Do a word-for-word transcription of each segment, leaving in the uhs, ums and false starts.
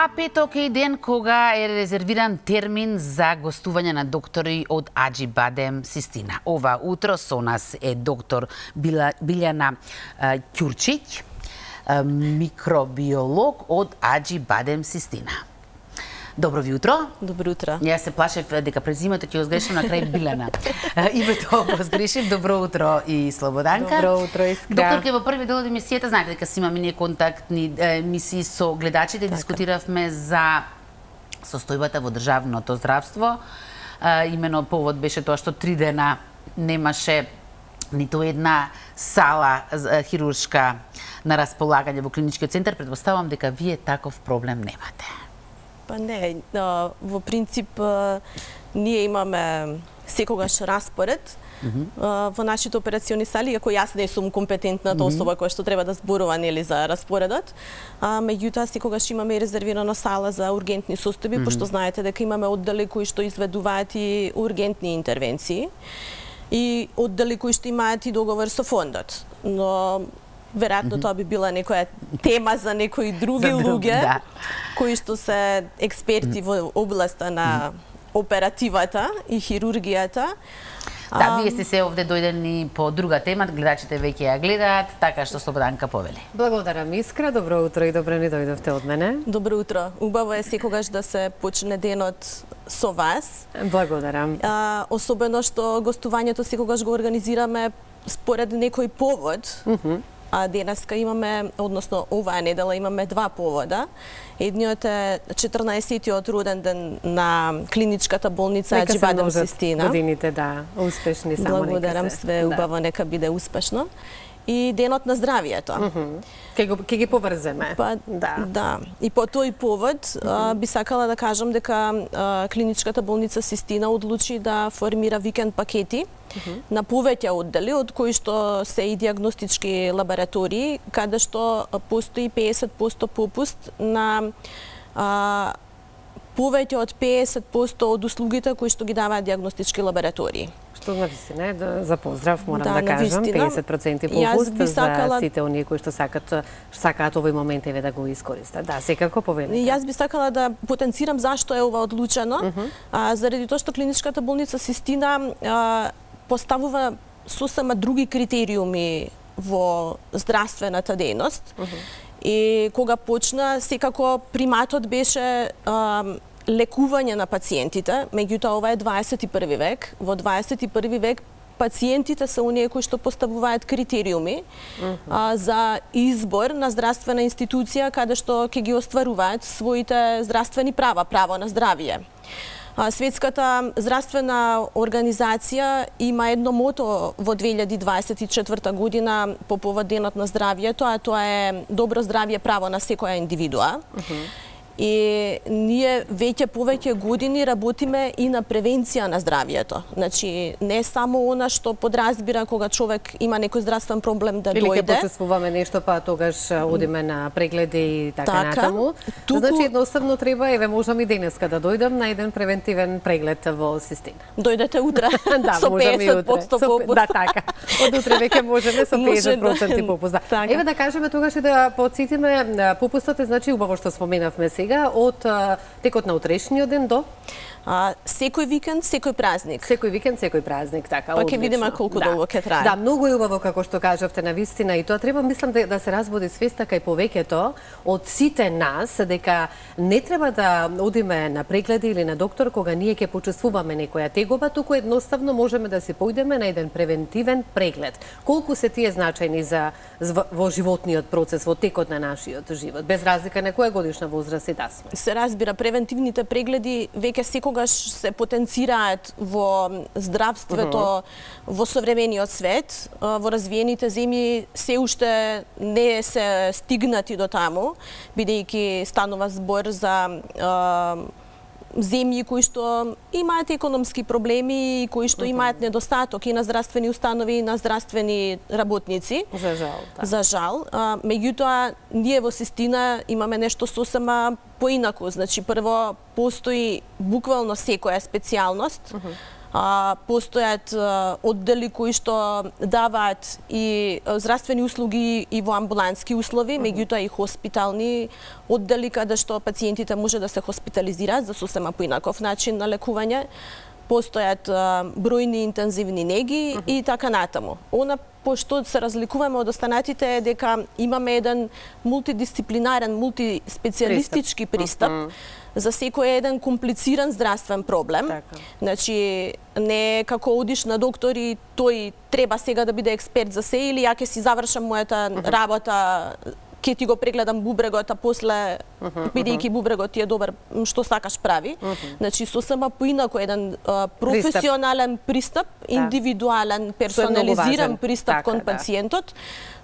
А петок е ден кога е резервиран термин за гостување на доктори од Аџибадем Систина. Ова утро со нас е доктор Билјана Ќурчиќ, микробиолог од Аџибадем Систина. Добро ви утро. Добро утро. Јас се плашев дека презимето ќе го сгрешам на крај Билјана. Името го сгрешив. Добро утро и Слободанка. Добро утро, Искра. Докторке, во први дел од емисијата знаете дека си имаме ние контактни емисии со гледачите, така. Дискутиравме за состојбата во државното здравство. Имено повод беше тоа што три дена немаше ниту една сала хируршка на располагање во клиничкиот центар. Предпоставам дека вие таков проблем немате. Па не, во принцип ние имаме секогаш распоред mm -hmm. во нашите операциони сали, иако јас не сум компетентната mm -hmm. особа која што треба да зборува нели за распоредот. А меѓутоа секогаш имаме и резервирана сала за ургентни состојби, mm -hmm. пошто знаете дека имаме оддели кои што изведуваат и ургентни интервенции и оддели кои што имаат и договор со фондот. Но веројатно mm -hmm. тоа би била некоја тема за некои други луѓе да. кои што се експерти mm -hmm. во областа на оперативата и хирургијата. Да, а... вие сте се овде дојдени по друга тема, гледачите веќе ја гледаат, така што Слободанка повели. Благодарам, Искра, добро утро и добро ни дојдовте од мене. Добро утро. Убаво е секогаш да се почне денот со вас. Благодарам. А, особено што гостувањето секогаш го организираме според некој повод. Mm -hmm. А денеска имаме, односно оваа недела имаме два повода. Едниот е четрнаесеттиот роден ден на клиничката болница Аџибадем Систина. Годините, да, успешни само нека се. Благодарам, све убаво, да. Нека биде успешно. И денот на здравието. Mm -hmm. Ке, ке ги поврземе. Па, да. да. И по тој повод mm -hmm. а, би сакала да кажам дека а, клиничката болница Систина одлучи да формира викенд пакети mm -hmm. на повеќе оддели, од кои што се и диагностички лаборатории, каде што постои педесет проценти попуст на а, повеќе од педесет проценти од услугите кои што ги даваат диагностички лаборатории. Што на вистина е да, за поздрав, морам да, да кажам, вистина, педесет проценти попуст сакала... за сите оние кои што сакат, сакаат овој момент еве да го искористат. Да, секако повелете. Јас би сакала да потенцирам зашто е ова одлучено, uh -huh. а, заради тоа што клиничката болница Систина а, поставува сосема други критериуми во здравствената дејност. Uh -huh. И кога почна, секако приматот беше а, лекување на пациентите, меѓутоа ова е дваесет и први век. Во дваесет и први век пациентите се оние кои што поставуваат критериуми uh -huh. а, за избор на здравствена институција каде што ќе ги остваруваат своите здравствени права, право на здравје. Светската здравствена организација има едно мото во две илјади дваесет и четврта година по повод денот на здравјето, а тоа е добро здравје право на секоја индивидуа. Uh -huh. И ние веќе повеќе години работиме и на превенција на здравјето. Значи, не само она што подразбира кога човек има некој здравствен проблем да или дојде. Или ќе почувствуваме нешто, па тогаш одиме на прегледи и така, така натаму. Туку... Значи, едноставно треба, еве, можам и денеска да дојдам на еден превентивен преглед во Систина. Дојдете утре да, со педесет проценти попуст. Да, така. Од утре веќе можеме со педесет проценти попуст. Да. Така. Еве да кажеме тогаш и да потсетиме, попустот е, значи, убаво што споменавме сега, од текот на утрешниот ден до А, секој викенд, секој празник. Секој викенд, секој празник, така. Па ќе видиме колку да. долго ќе трае. Да, многу е убаво како што кажавте на вистина и тоа треба мислам да, да се разбуди свеста кај повеќето од сите нас дека не треба да одиме на прегледи или на доктор кога ние ќе почувствуваме некоја тегоба, туку едноставно можеме да се појдеме на еден превентивен преглед. Колку се тие значајни за во животниот процес, во текот на нашиот живот, без разлика на која годишна возраст и да сме. Се разбира, превентивните прегледи веќе секогаш се потенцираат во здравството uh -huh. во современиот свет. Во развиените земји се уште не се стигнати до таму, бидејќи станува збор за земји кои што имаат економски проблеми и кои што имаат недостаток и на здравствени установи и на здравствени работници. За жал. Да. За жал. А, меѓутоа, ние во Систина имаме нешто сосема поинаку. Значи, прво, постои буквално секоја специјалност. Uh -huh. А, постојат а, оддели кои што даваат и а, здравствени услуги и во амбулантски услови, меѓутоа и хоспитални оддели каде што пациентите може да се хоспитализираат за сосема поинаков начин на лекување. Постојат а, бројни интензивни неги uh -huh. и така натаму. Она пошто се разликуваме од останатите е дека имаме еден мултидисциплинарен, мултиспецијалистички пристап, uh -huh. за секој еден комплициран здравствен проблем. Така. Значи, не е како одиш на доктор и тој треба сега да биде експерт за се или ја ќе си завршам мојата uh -huh. работа, ќе ти го прегледам бубрегот, а после, uh -huh, бидејќи бубрегот ти е добар, што сакаш прави. Uh -huh. Значи, сосема поинако еден а, професионален пристап, да. индивидуален, персонализиран пристап така, кон да. пациентот,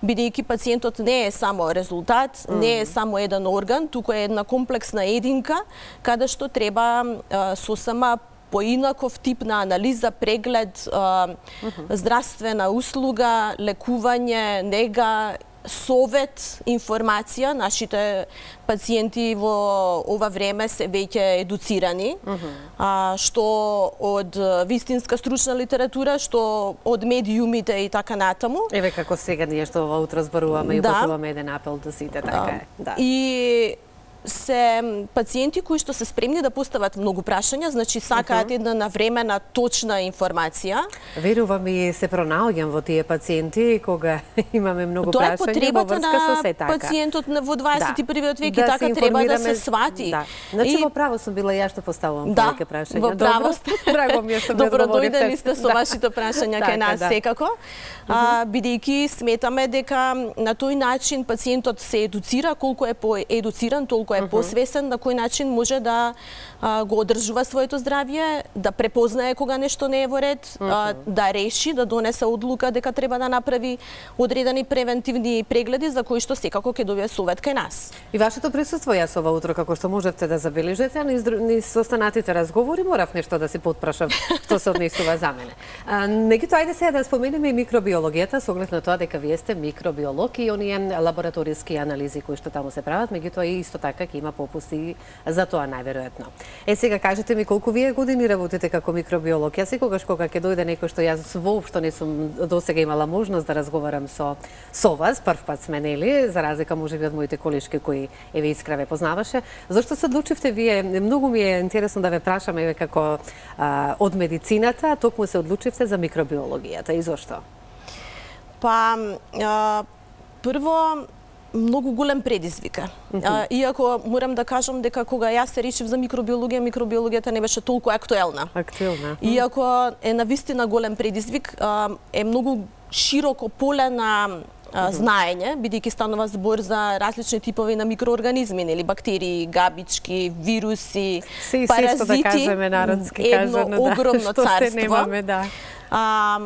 бидејќи пациентот не е само резултат, mm. не е само еден орган, туку е една комплексна единка, каде што треба а, сосема поинаков тип на анализа, преглед, а, mm -hmm. здравствена услуга, лекување, нега, совет, информација. Нашите пациенти во ова време се веќе едуцирани, mm -hmm. а, што од вистинска стручна литература, што од медиумите и така натаму. Еве како сега ние што ова утро зборуваме да. и упатуваме еден апел до сите, така е. Да. И се пациенти кои што се спремни да постават многу прашања, значи сакаат uh -huh. една навремена, точна информација. Верувам и се пронаоѓам во тие пациенти кога имаме многу Тоа прашања. Тоа е потребата на се така. пациентот во дваесет и првиот век да. и да така треба да се свати. Да. Значи и... во право сум била ја што поставувам да, повеќе прашања. Во право сте. Драго ми е што ме Добро одговоривте. дојдени сте со да. вашите прашања кај нас да. секако. А, бидејќи сметаме дека на тој начин пациентот се едуцира, колку е поедуциран, толку е посвесен на кој начин може да а, го одржува своето здравје, да препознае кога нешто не е во ред, uh -huh. а, да реши, да донесе одлука дека треба да направи одредени превентивни прегледи за кои што секако ќе добие совет кај нас. И вашето присуство јас ова утро, како што можете да забележите, а низ, низ останатите разговори морав нешто да си потпрашав што се однесува за мене. А, меѓутоа, ајде сега да споменеме и микробиологијата, со оглед на тоа дека вие сте микробиолог и оние лабораториски анализи кои што таму се прават, меѓутоа и исто така ќе има попусти за тоа најверојатно. Е, сега кажете ми колку вие години работите како микробиолог? Јас секогаш кога ќе дојде некој што јас воопшто не сум досега имала можност да разговарам со со вас, прв пат сме, нели, за разлика можеби од моите колешки кои еве Искра ве познаваше. Зошто се одлучивте вие? Многу ми е интересно да ве прашам еве како а, од медицината, токму се одлучивте за микробиологијата и зошто? Па, а, прво, многу голем предизвик. Uh -huh. Иако морам да кажам дека кога јас се решив за микробиологија, микробиологијата не беше толку актуелна. Актуелна. Иако е навистина голем предизвик, е многу широко поле на Uh -huh. знаење, бидејќи станува збор за различни типови на микроорганизми, нели, бактерии, габички, вируси, Си, паразити, се, да кажеме народски едно кажано, да, огромно што царство. се немаме, да. А,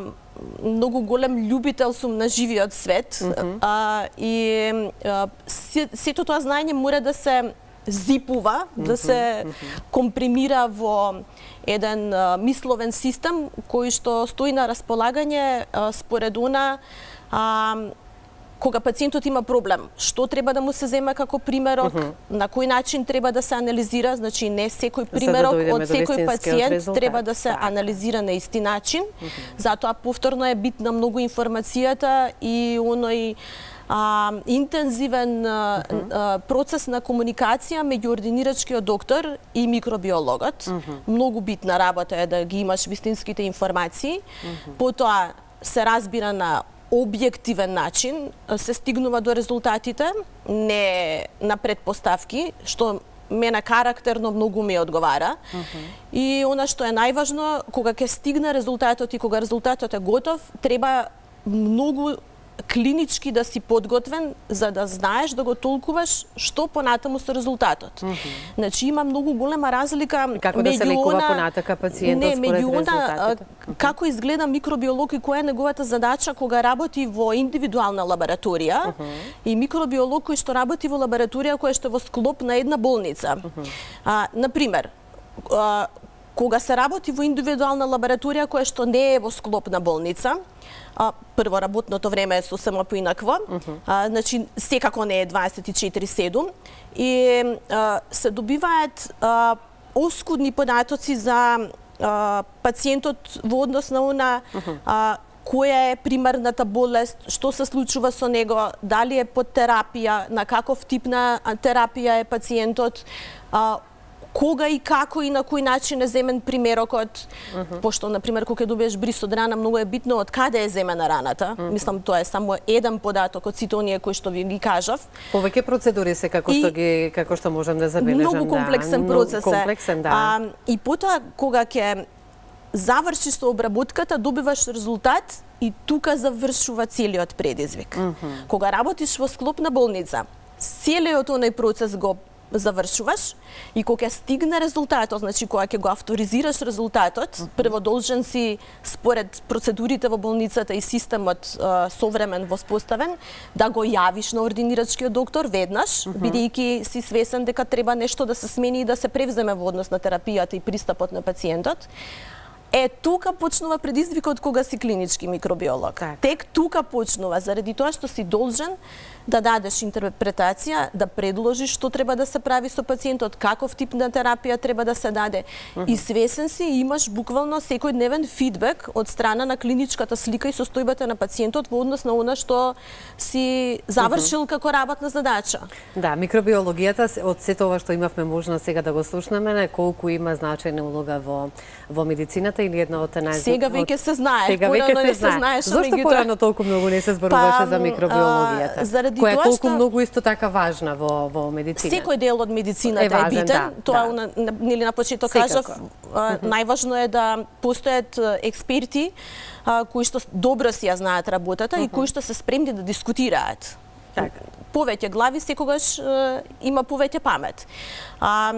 многу голем љубител сум на живиот свет, uh -huh. а, и а, се, сето тоа знаење мора да се зипува, uh -huh. да се uh -huh. компримира во еден а, мисловен систем кој што стои на располагање а, според она а, кога пациентот има проблем, што треба да му се зема како примерок, uh -huh. на кој начин треба да се анализира, значи не секој примерок да од секој пациент резултат. Треба да се анализира на исти начин. Uh -huh. Затоа повторно е битна многу информацијата и оној а, интензивен а, uh -huh. а, процес на комуникација меѓу ординирачкиот доктор и микробиологот. Uh -huh. Многу битна работа е да ги имаш вистинските информации. Uh -huh. Потоа се разбира на објективен начин, се стигнува до резултатите, не на предпоставки, што мене карактерно многу ми одговара. Uh -huh. И она што е најважно, кога ќе стигне резултатот и кога резултатот е готов, треба многу клинички да си подготвен за да знаеш да го толкуваш што понатаму со резултатот. Uh -huh. Значи има многу голема разлика како да се лекува понатака пациентот според резултатите. Како изгледа микробиолог и која е неговата задача кога работи во индивидуална лабораторија uh -huh. и микробиолог кој што работи во лабораторија која што е во склоп на една болница. Uh -huh. а, например, а, кога се работи во индивидуална лабораторија која што не е во склоп на болница, а, прво работното време е сосема поинакво, uh -huh. а, значи секако не е дваесет и четири седум и а, се добиваат а, оскудни податоци за а, пациентот во однос на она а, која е примарната болест, што се случува со него, дали е под терапија, на каков тип на терапија е пациентот, а, кога и како и на кој начин е земен примерокот, uh -huh. пошто, например, кога ќе добиеш бриз од рана, многу е битно од каде е земена раната. Uh -huh. Мислам, тоа е само еден податок од сите оние кои што ви ги кажав. Повеќе процедури се како што ги како што можам да забележам. Многу комплексен да. процес е. Комплексен, да. А, и потоа кога ќе завршиш со обработката, добиваш резултат и тука завршува целиот предизвик. Uh -huh. Кога работиш во склоп на болница, целиот оној процес го завршуваш и кога ќе стигне резултатот, значи кога ќе го авторизираш резултатот, uh -huh. прво должен си според процедурите во болницата и системот uh, современ воспоставен да го јавиш на ординирачкиот доктор веднаш, uh -huh. бидејќи си свесен дека треба нешто да се смени и да се превземе во однос на терапијата и пристапот на пациентот. Е, тука почнува предизвикот кога си клинички микробиолог. Так. Тек тука почнува, заради тоа што си должен да дадеш интерпретација, да предложиш што треба да се прави со пациентот, каков тип на терапија треба да се даде. Uh -huh. И свесен си, имаш буквално секојдневен фидбек од страна на клиничката слика и состојбата на пациентот во однос на она што си завршил uh -huh. како работна задача. Да, микробиологијата, од сето ова што имавме можност сега да го слушнеме, колку има значајна улога во во медицината или една од најзна... Сега веќе се знае, сега веќе се, се знае. Зошто порано толку многу не се зборуваше па, за микробиологијата? Заради која е толку што... многу исто така важна во во медицината. Секој дел од медицината е, важен, е битен. Да, тоа да. На, нели на почеток кажав, а, најважно е да постојат експерти а, кои што добро си ја знаат работата uh -huh. и кои што се спремни да дискутираат. Така. Повеќе глави секогаш а, има повеќе памет. А,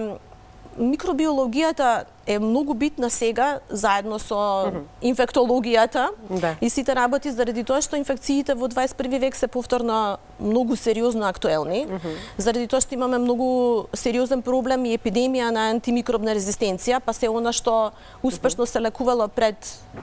микробиологијата е многу битна сега, заедно со uh -huh. инфектологијата да. И сите работи, заради тоа што инфекциите во дваесет и први век се повторно многу сериозно актуелни, uh -huh. заради тоа што имаме многу сериозен проблем и епидемија на антимикробна резистенција, па се она што успешно се лекувало пред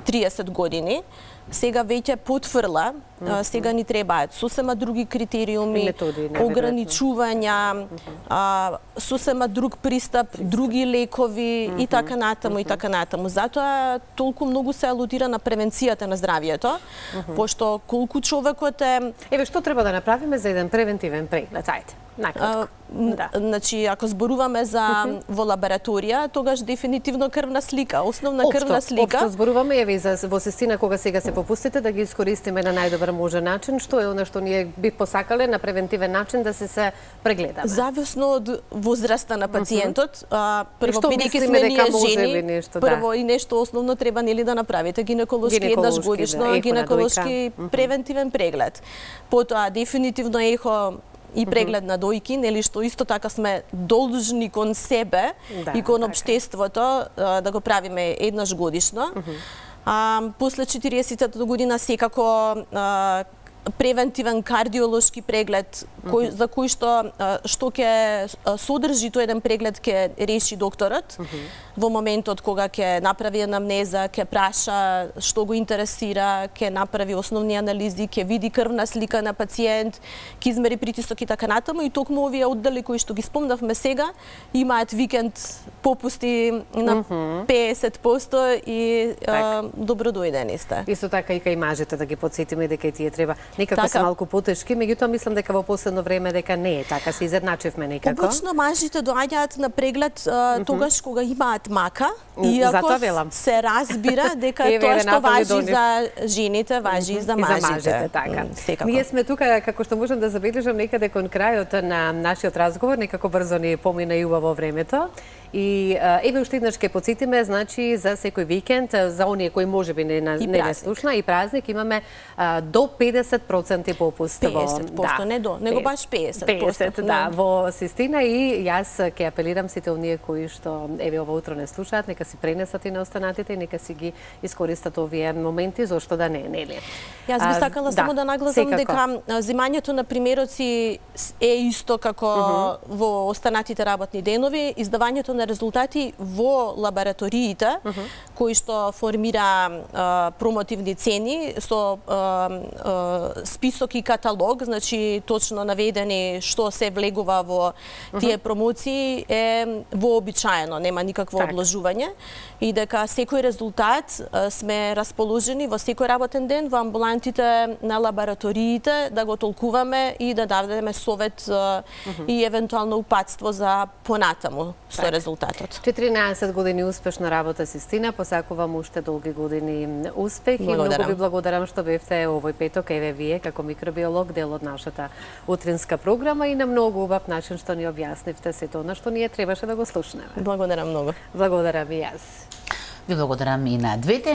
триесет години, сега веќе потврла, mm -hmm. сега ни требаат сосема други критериуми, методи, ограничувања, mm -hmm. а, сосема друг пристап, други лекови mm -hmm. и така натаму mm -hmm. и така натаму. Затоа толку многу се алудира на превенцијата на здравието, mm -hmm. пошто колку човекот е... Еве, што треба да направиме за еден превентивен преглед? Ајде. А, да. Значи, ако зборуваме за uh -huh. во лабораторија, тогаш дефинитивно крвна слика, основна општо, крвна слика. Општо зборуваме, еве, за во сестина кога сега се попустите да ги искористиме на најдобар можен начин, што е она што ние би посакале на превентивен начин да се се прегледаме. Зависно од возраста на пациентот, uh -huh. а, прво бидејќи сме ние жени, нешто, прво да. И нешто основно треба нели да направите гинеколошки, гинеколошки еднаш годишно да, гинеколошки превентивен преглед. Потоа дефинитивно ехо и преглед на дојки, нели што исто така сме должни кон себе да, и кон општеството да го правиме еднаш годишно. Uh -huh. А, после четириесетата година секако а, превентивен кардиолошки преглед кој, за кој што што ќе содржи тој еден преглед ќе реши докторот uh -huh. во моментот кога ќе направи анамнеза, ќе праша што го интересира, ќе направи основни анализи, ќе види крвна слика на пациент, ќе измери притисок и така натаму и токму овие оддели кои што ги спомнавме сега имаат викенд попусти на uh -huh. педесет проценти и а, добро дојдени сте. Исто така и кај мажите да ги подсетиме дека и тие треба некако така. Се малку потешки, меѓутоа мислам дека во последно време дека не е така, се изедначивме некако. Обично мажите доаѓаат на преглед а, uh -huh. тогаш кога имаат мака, иако се разбира дека тоа што важи за жените, важи uh -huh. и за мажите. И за мажите, така. Mm, ние сме тука, како што можам да забележам, некаде кон крајот на нашиот разговор, некако брзо ни помина и убаво времето. И еве уште еднаш ќе потсетиме, значи за секој викенд, за оние кои можеби не не, не слушна и празник имаме а, до педесет проценти попуст во педесет проценти, да, не до, него баш педесет проценти. педесет, да, во Систина и јас ќе апелирам сите оние кои што еве ова утро не слушаат, нека си пренесат и на останатите и нека си ги искористат овие моменти, зошто да не, нели? Јас би сакала а, само да, да нагласам дека земањето на примероци е исто како uh -huh. во останатите работни денови, издавањето на резултати во лабораториите, uh -huh. кои што формира а, промотивни цени со а, а, список и каталог, значи точно наведени што се влегува во тие промоции, е вообичаено, нема никакво так. одложување и дека секој резултат а, сме расположени во секој работен ден во амбулантите на лабораториите да го толкуваме и да дадеме совет а, uh -huh. и евентуално упатство за понатаму со так. резултатот. четиринаесет години успешна работа, Систина, посакувам уште долги години успех. Благодарам. И многу ви благодарам што бевте овој петок, еве вие како микробиолог, дел од нашата утринска програма и на многу убав начин што ни објаснивте сето она што ние требаше да го слушнеме. Благодарам многу. Благодарам и јас. Ви благодарам и на двете.